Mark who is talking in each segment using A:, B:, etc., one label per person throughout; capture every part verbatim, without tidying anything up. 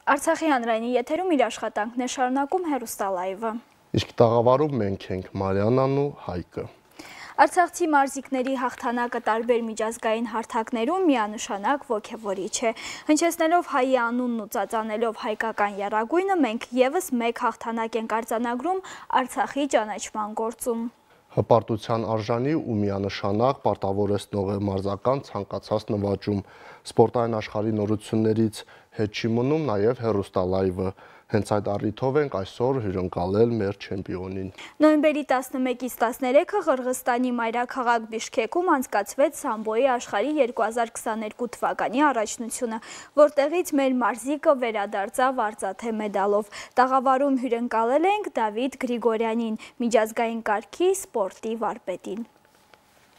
A: Արցախի հանրայինի եթերում իր աշխատանքն է շարունակում հեռուստալայվը։
B: Իսկ տաղավարում մենք ենք Մարիանան ու Հայկը։
A: Արցախցի մարզիկների հաղթանակը տարբեր միջազգային հարթակներում միանշանակ ոգևորիչ է։ Հնչեցնելով հայի անունն ու ծածանելով հայկական եռագույնը մենք եւս մեկ հաղթանակ ենք արձանագրում Արցախի ճանաչման գործում։
B: Հպարտության արժանի ու միանշանակ պարտավորեցնող է մարզական ցանկացած նվաճում։ Սպորտային աշխարհի նորություններից հետ չի մնում նաև հեռուստալայվը։ Հենց այդ առիթով ենք այսօր հյուրընկալել մեր չեմպիոնին։
A: Նոյեմբերի տասնմեկից տասներեքը Ղրղստանի մայրաքաղաք Բիշքեքում անցկացվեց սամբոյի աշխարհի երկու հազար քսաներկու թվականի առաջնությունը, որտեղից մեր մարզիկը վերադարձավ արծաթե մեդալով։ Տաղավարում հյուրընկալել ենք Դավիթ Գրիգորյանին, միջազգային կարգի սպորտի վարպետին։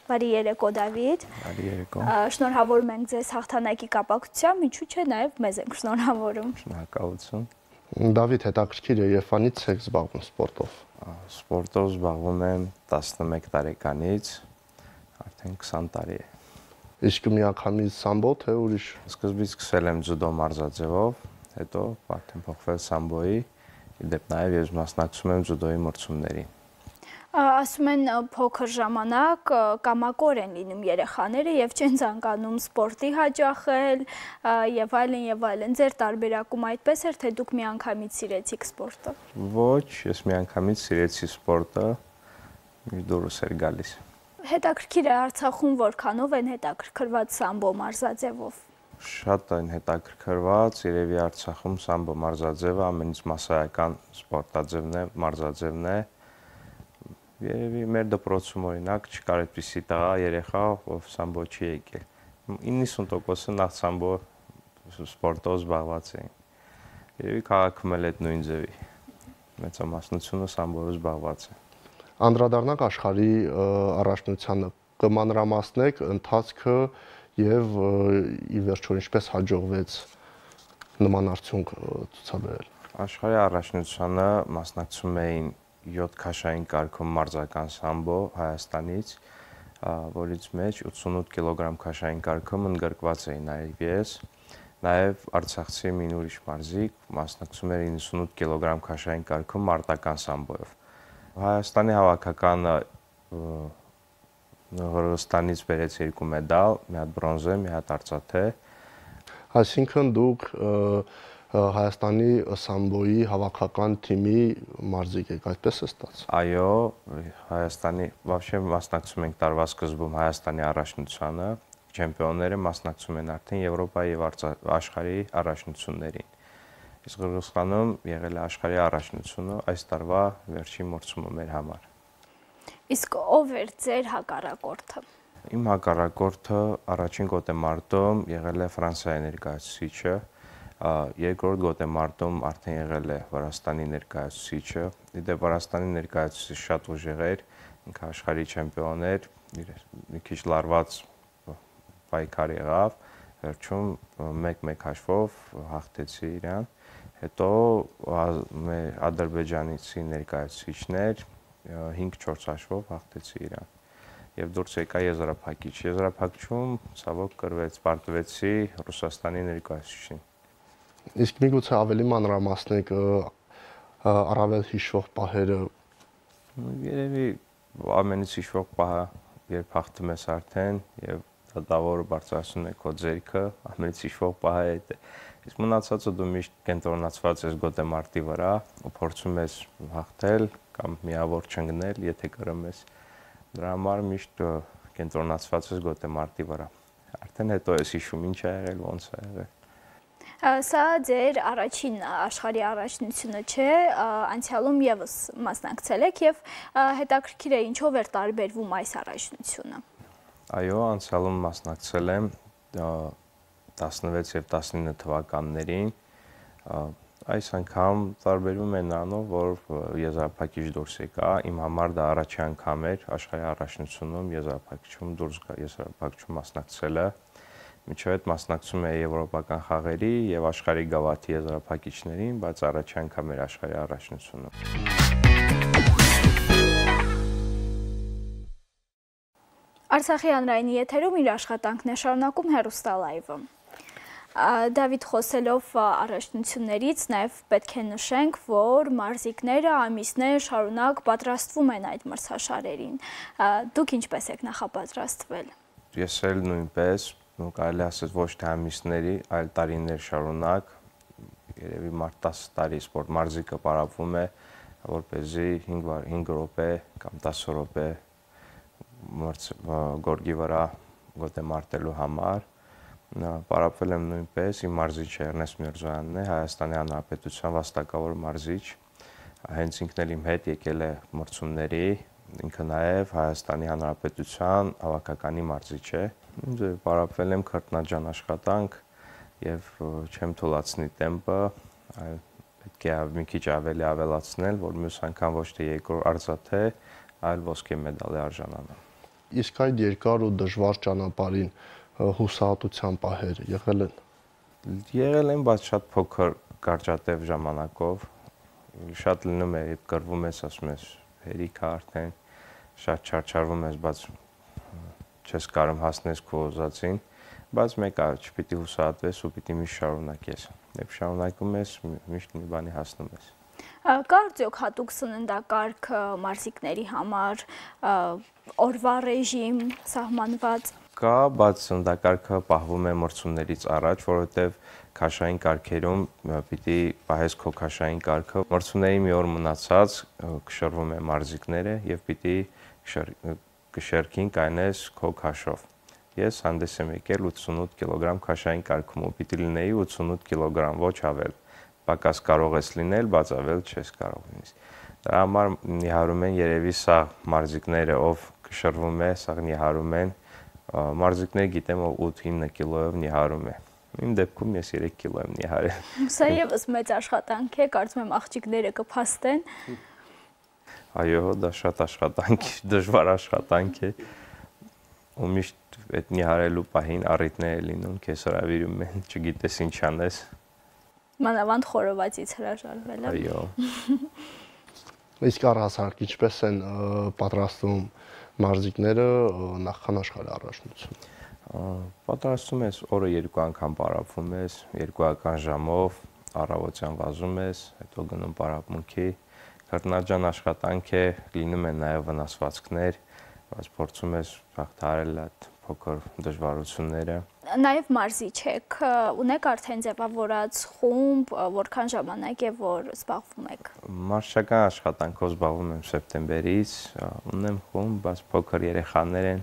A: Բարի երեկո, Դավիթ։
C: Բարի երեկո։
A: Շնորհավորում ենք ձեզ հաղթանակի կապակցությամբ, ինչու՞ չէ նաև մեզ ենք շնորհավորում։
C: Շնորհակալություն։
B: Դավիթ, հետաքրքիր է, երբանից եք զբաղվում սպորտով։
C: Սպորտով զբաղվում եմ տասնմեկ տարեկանից, արդեն քսան տարի է։
B: Իսկ միանգամից սամբո, թե ուրիշ։
C: Սկզբից սկսել եմ ձյուդո մարզաձևով, հետո արդեն փոխվել սամբոյի, իդեպ նաև ես մասնակցում եմ ձյուդոյի մրցումներին։
A: Ասում են փոքր ժամանակ կամակոր են լինում երեխաները եւ չեն ցանկանում սպորտի հաճախել եւ այլն եւ այլն։ Ձեր տարբերակում այդպես էր, թե դուք միանգամից սիրեցիք սպորտը։
C: Ոչ, ես միանգամից սիրեցի սպորտը, միշտ դուրս էր գալիս։
A: Հետաքրքիր է Արցախում որքանով են հետաքրքրված սամբո մարզաձևով։
C: Շատ են հետաքրքրված, երևի Արցախում սամբո մարզաձևը ամենից մասսայական սպորտաձևն է, մարզաձևն է։ Երևի մեր դպրոցում օրինակ չկար այդպիսի տղա երեխա, ով սամբո չի եկել։ իննսուն տոկոսը նախ սամբո սպորտով զբաղված էին։ Երևի քաղաքում էլ այդ նույն ձևի մեծամասնությունը սամբոյով զբաղված է։
B: Անդրադառնանք աշխարհի առաջնությանը, կմանրամասնեք ընթացքը եւ ի վերջո ինչպես հաջողվեց նման արդյունք ցուցաբերել։
C: Աշխարհի առաջնությանը մասնակցում էին յոթ քաշային կարգում մարզական սամբո Հայաստանից, որից մեջ ութսունութ կիլոգրամ քաշային կարգում ընդգրկված էի նաև ես, նաև արցախցի մի ուրիշ մարզիկ մասնակցում էր իննսունութ կիլոգրամ քաշային կարգում մարտական սամբոյով։ Հայաստանի հավաքականը Ղրղստանից բերեց երկու մեդալ, մի հատ բրոնզե, մի հատ արծաթե։
B: Այսինքն դուք Հայաստանի սամբոյի հավաքական թիմի մարզիկ եք, այդպես է ստացվում։
C: Այո, Հայաստանի, вообще մասնակցում ենք տարվա սկզբում Հայաստանի առաջնությանը, չեմպիոնները մասնակցում են արդեն Եվրոպայի եւ աշխարհի առաջնություններին։ Իսկ Ղրղստանում եղել է աշխարհի առաջնությունը, այս տարվա վերջին մրցումը մեր համար։
A: Իսկ ով էր ձեր հակառակորդը։
C: Իմ հակառակորդը առաջին գոտեմարտում եղել է Ֆրանսիայի ներկայացուցիչը, երկրորդ գոտեմարտում արդեն եղել է Վրաստանի ներկայացուցիչը։ Իդեպ Վրաստանի ներկայացուցիչը շատ ուժեղ էր, ինքը աշխարհի չեմպիոն էր, մի քիչ լարված պայքար եղավ, վերջում մեկ-մեկ հաշվով հաղթեցի իրան։ Հետո մեր ադրբեջանցի ներկայացուցիչներ հինգ-չորս հաշվով հաղթեցի իրան եւ դուրս եկա եզրափակիչ։ Եզրափակչում ցավոք կրվեց, պարտվեցի Ռուսաստանի ներկայացուցիչին։
B: Իսկ միգուցե ավելի մանրամասնեք առավել հիշվող պահերը։
C: Երևի ամենից հիշվող պահը, երբ հաղթում ես արդեն եւ դատավորը բարձրացնում է քո ձեռքը, ամենից հիշվող պահը այդ է։ Իսկ մնացածը դու միշտ կենտրոնացված ես գոտեմարտի վրա ու փորձում ես հաղթել կամ միավոր չընկնել, եթե կրում ես։ Դրա համար միշտ կենտրոնացված ես գոտեմարտի վրա։ Արդեն հետո ես հիշում ինչ ա եղել, ոնց ա եղել։
A: Սա ձեր առաջին աշխարհի առաջնությունը չէ, անցյալում եւս մասնակցել եք եւ հետաքրքիր է ինչով էր տարբերվում այս առաջնությունը։
C: Այո, անցյալում մասնակցել եմ տասնվեց եւ տասնինը թվականներին։ Այս անգամ տարբերվում է նրանով, որ եզրափակիչ դուրս եկա, իմ համար դա առաջի անգամ էր աշխարհի առաջնությունում եզրափակիչում դուրս գա, եզրափակիչում մասնակցելը։ Միջև այդ մասնակցում է եվրոպական խաղերի եւ աշխարհի գավաթի եզրափակիչներին, բայց առաջի անգամ էր աշխարհի առաջնությունում։ Արցախի հանրայինի եթերում իր աշխատանքն է շարունակում հեռուստալայվը։
A: Դավիթ, խոսելով առաջնություններից, նաև պետք է նշենք, որ մարզիկները ամիսներ շարունակ պատրաստվում են այդ մրցաշարերին։ Դուք ինչպես եք նախապատրաստվել։
C: Ես էլ նույնպես, ու կարելի ասել ոչ թե ամիսների, այլ տարիներ շարունակ, երևի մարդ տասը տարի սպորտ մարզիկը պարապվում է, որպեսզի հինգ րոպե կամ տասը րոպե գորգի վրա գոտե մարտելու համար։ Պարապվել եմ նույնպես, իմ մարզիչը Էրնեստ Միրզոյանն է, Հայաստանի Հանրապետության վաստակավոր մարզիչ, հենց ինքն էլ իմ հետ եկել է մրցումների, ինքը նաև Հայաստանի Հանրապետության հավաքականի մարզիչ է։ Պարապվել եմ քրտնաջան աշխատանք եւ չեմ թույլատնի տեմպը, պետք է մի քիչ ավելի ավելացնել, որ մյուս անգամ ոչ թե երկրորդ արծաթե, այլ ոսկե մեդալի արժանանա։
B: Իսկ այդ երկար ու դժվար ճանապարհին հուսահատության պահեր եղել են։
C: Եղել են, բայց շատ փոքր կարճատև ժամանակով։ Շատ լինում է, երբ կռվում ես, ասում ես, հերիք է արդեն, շատ չարչարվում ես, բայց չես կարող հասնես քո ուզածին, բայց մեկ է, չպիտի հուսահատվես ու պիտի միշտ շարունակես։ Երբ շարունակում ես, միշտ մի բանի հասնում ես։
A: Կա արդյոք հատուկ սննդակարգ մարզիկների համար, օրվա ռեժիմ սահմանված։
C: Կա, բայց սննդակարգը պահվում է մրցումներից առաջ, որովհետև քաշային կարգերում պիտի պահես քո քաշային կարգը։ Մրցումների մի օր մնացած կշռվում է մարզիկները եւ պիտի կշերքին կայնես քո քաշով։ Ես հանդես եմ եկել ութսունութ կիլոգրամ քաշային կարգում ու պիտի լինեի ութսունութ կիլոգրամ, ոչ ավել։ Պակաս կարող ես լինել, բայց ավել չես կարող լինես։ Դրա համար նիհարում են երևի սա մարզիկները, ով կշռվում է, սա նիհարում են, մարզիկները գիտեմ, ով ութ-ինը կիլոյով նիհարում է։ Իմ դեպքում ես երեք կիլո եմ նիհարել։
A: Սա եւս մեծ աշխատանք է, կարծում եմ աղջիկները կփաստեն։
C: Այո, դա շատ աշխատանք է, դժվար աշխատանք է։ Ու միշտ այդ նիհարելու պահին առիթներ լինում, քեզ հրավիրում են, չգիտես ինչ անես։
A: Մանավանդ խորովածից հրաժարվել։
C: Այո։
B: Իսկ առհասարակ ինչպես են պատրաստվում մարզիկները նախքան աշխարհի առաջնություն։
C: Պատրաստում ես օրը երկու անգամ պարապվում ես, երկուական ժամով առավոտյան վազում ես, հետո գնում պարապմունքի, քրտնաջան աշխատանք է, լինում են նաև վնասվածքներ, բայց փորձում ես հաղթահարել այդ փոքր դժվարությունները։
A: Նաև մարզիչ եք, ունեք արդեն ձևավորած խումբ, որքան ժամանակ է, որ զբաղվում եք։
C: Մարզչական աշխատանքով զբաղվում եմ սեպտեմբերից, ունեմ խումբ, բայց փոքր երեխաներ են,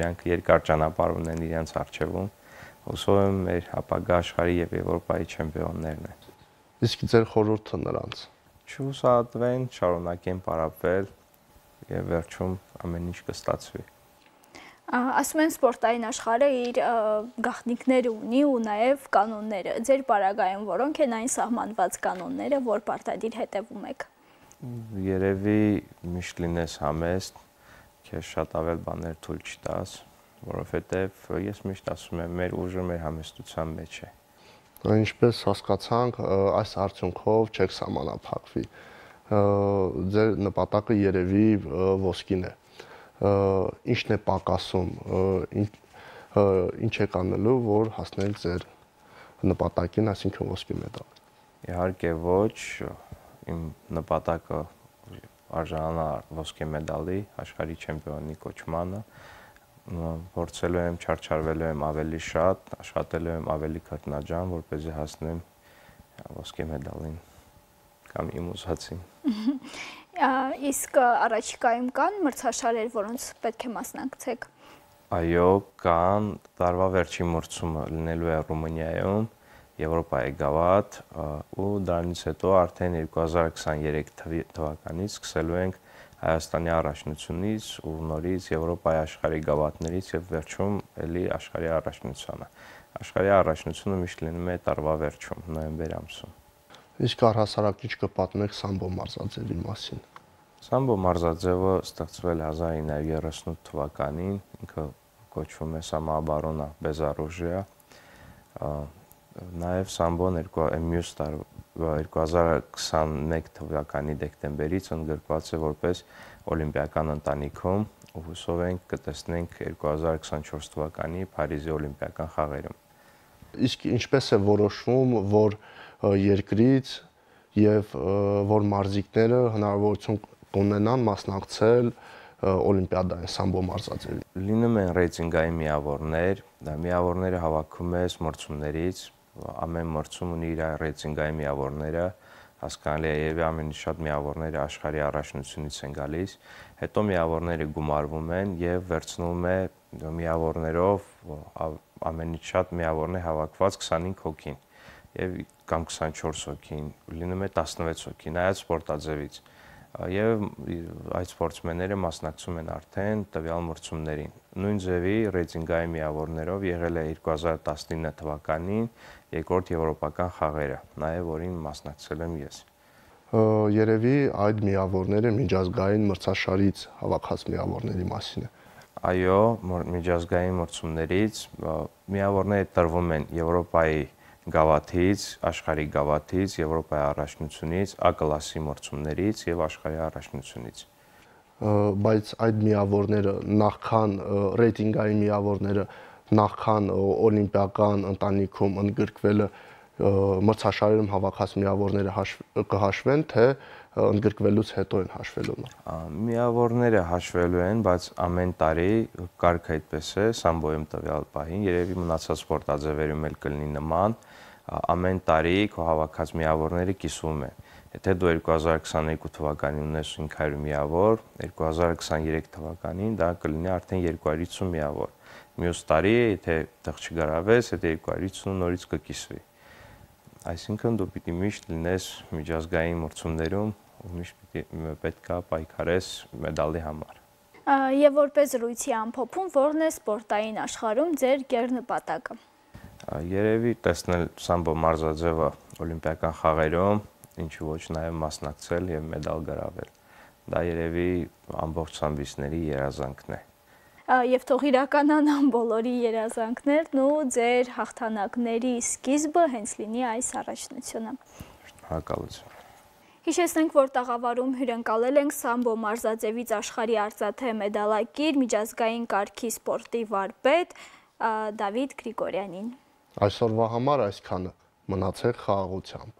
C: իրանք երկար ճանապարհ ունեն իրենց առջևում, հուսով եմ մեր ապագա աշխարհի եւ Եվրոպայի չեմպիոններն են։
B: Իսկ ձեր խորհուրդը նրանց։
C: Չհուսահատվեն, շարունակեն պարապվել եւ վերջում ամեն ինչ կստացվի։
A: Ասում են սպորտային աշխարհը իր գաղտնիքները ունի ու նաև կանոնները։ Ձեր պարագայում որոնք են այն սահմանված կանոնները, որ պարտադիր հետևում եք։
C: Երևի միշտ լինես համեստ, քեզ շատ ավել բաներ թույլ չտաս, որովհետև ես միշտ ասում եմ, մեր ուժը մեր համեստության մեջ է։
B: Ինչպես հասկացանք, այս արդյունքով չեք սահմանափակվի։ Ձեր նպատակը երևի ոսկին է։ Ինչն է պակասում, ինչ եք անելու, որ հասնեք ձեր նպատակին, այսինքն ոսկի մեդալ։
C: Իհարկե ոչ, իմ նպատակը արժանանա ոսկե մեդալի, աշխարհի չեմպիոնի կոչմանը, փորձելու եմ, չարչարվելու եմ ավելի շատ, աշխատելու եմ ավելի քրտնաջան, որպեսզի հասնեմ ոսկե մեդալին կամ իմ ուզածին։
A: Իսկ առաջիկայում կան մրցաշարեր, որոնց պետք է մասնակցեք։
C: Այո, կան, տարվա վերջին մրցումը լինելու է Ռումինիայում, Եվրոպայի գավաթ, ու դրանից հետո արդեն երկու հազար քսաներեք թվականից սկսելու ենք Հայաստանի առաջնությունից ու նորից Եվրոպայի աշխարհի գավաթներից եւ վերջում էլի աշխարհի առաջնությանը։ Աշխարհի առաջնությունը միշտ լինում է տարվա վերջում, նոյեմբեր ամսում։
B: Իսկ առհասարակ ինչ կպատնեք սամբո մարզաձևի մասին։
C: Սամբո մարզաձևը ստեղծվել է հազար ինը հարյուր երեսունութ թվականին, ինքը կոչվում է Սամոաբորոնա Բեզարուժիա։ Նաև սամբոն մյուս տարվա երկու հազար քսաներեք թվականի դեկտեմբերից ընդգրկված է որպես օլիմպիական ընտանիքում ու հուսով ենք կտեսնենք երկու հազար քսանչորս թվականի Փարիզի օլիմպիական խաղերում։
B: Իսկ ինչպես է որոշվում, որ երկրից եւ որ մարզիկները հնարավորություն կունենան մասնակցել օլիմպիադային սամբո մարզաձևի։
C: Լինում են ռեյտինգային միավորներ, դա միավորները հավաքում է մրցումներից, ամեն մրցում ունի իր ռեյտինգային միավորները, հասկանալի է եւ ամենից շատ միավորները աշխարհի առաջնությունից են գալիս, հետո միավորները գումարվում են եւ վերցնում է միավորներով ամենից շատ միավորներ հավաքված քսանհինգ հոգին եւ կամ քսանչորս հոգին, լինում է տասնվեց հոգի, նայած սպորտաձևից։ Եվ այդ սպորտսմենները մասնակցում են արդեն տվյալ մրցումներին։ Նույն ձևի ռեյտինգային միավորներով եղել է երկու հազար տասնինը թվականին երկրորդ եվրոպական խաղերը, նաև որին մասնակցել եմ ես։
B: Երևի այդ միավորները միջազգային մրցաշարից հավաքած միավորների մասին է։
C: Այո, միջազգային մրցումներից միավորները տրվում են Եվրոպայի գավաթից, աշխարհի գավաթից, Եվրոպայի առաջնությունից, A կլասի մրցումներից եւ աշխարհի առաջնությունից։
B: Բայց այդ միավորները նախքան ռեյտինգային միավորները նախքան օլիմպիական ընտանիքում ընդգրկվելը մրցաշարերում հավաքած միավորները կհաշվեն, թե ընդգրկվելուց հետո են հաշվելու։
C: Միավորները հաշվելու են, բայց ամեն տարի կարգը այդպես է, սամբոյում տվյալ պահին, երևի մնացած սպորտաձևերում էլ կլինի նման, ամեն տարի քո հավաքած միավորները կիսվում են։ Եթե դու երկու հազար քսաներկու թվականին ունես հինգ հարյուր միավոր, երկու հազար քսաներեք թվականին դա կլինի արդեն երկու հարյուր հիսուն միավոր։ Մյուս տարի, եթե տեղ չգրավես, այդ երկու հարյուր հիսունը նորից կկիսվի։ Այսինքն դու պիտի միշտ լինես միջազգային մրցումներում, ու միշտ պետք է պայքարես մեդալի համար։
A: Եվ որպես զրույցի ամփոփում, ո՞րն է սպորտային աշխարհում ձեր գերնպատակը։
C: Երևի տեսնել սամբո մարզաձևը օլիմպիական խաղերում, ինչու ոչ նաև մասնակցել եւ մեդալ գրավել։ Դա երևի ամբողջ սամբիստների երազանքն է։
A: Եվ թող իրականանան բոլորի երազանքներն ու ձեր հաղթանակների սկիզբը հենց լինի այս առաջնությունը։
C: Շնորհակալություն։
A: Հիշեցնենք, որ տաղավարում հյուրընկալել ենք սամբո մարզաձևից աշխարհի արծաթե մեդալակիր, միջազգային կարգի սպորտի վարպետ Դավիթ Գրիգորյանին։
B: Այսօրվա համար այսքանը, մնացեք խաղաղությամբ։